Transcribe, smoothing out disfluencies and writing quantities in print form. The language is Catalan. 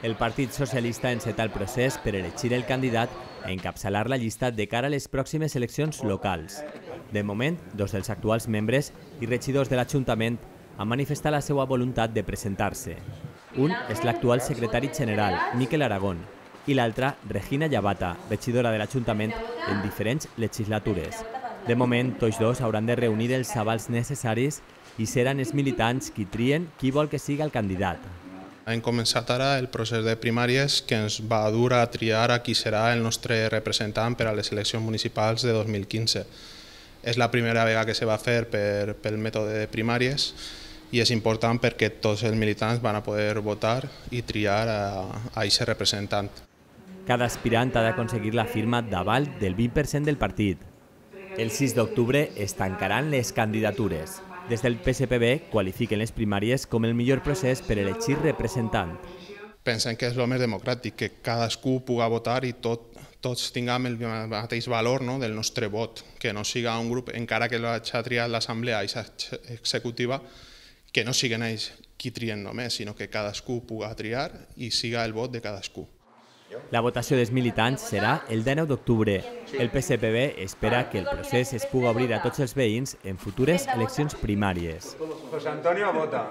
El Partit Socialista enceta el procés per elegir el candidat a encapçalar la llista de cara a les pròximes eleccions locals. De moment, dos dels actuals membres i regidors de l'Ajuntament han manifestat la seva voluntat de presentar-se. Un és l'actual secretari general, Miquel Aragón, i l'altra, Regina Llavata, regidora de l'Ajuntament en diferents legislatures. De moment, tots dos hauran de reunir els avals necessaris i seran els militants qui trien qui vol que sigui el candidat. Hem començat ara el procés de primàries que ens va dur a triar a qui serà el nostre representant per a les eleccions municipals de 2015. És la primera vegada que se va fer pel mètode de primàries i és important perquè tots els militants van a poder votar i triar a aquest representant. Cada aspirant ha d'aconseguir la firma d'aval del 20% del partit. El 6 d'octubre es tancaran les candidatures. Des del PSPB qualifiquen les primàries com el millor procés per elegir representant. Pensem que és el més democràtic, que cadascú pugui votar i tots tinguem el mateix valor del nostre vot, que no siga un grup, encara que l'hagi triat l'assemblea executiva, que no siguin ells qui trien només, sinó que cadascú pugui triar i siga el vot de cadascú. La votació dels militants serà el 19 d'octubre. El PSPB espera que el procés es pugui obrir a tots els veïns en futures eleccions primàries. José Antonio vota.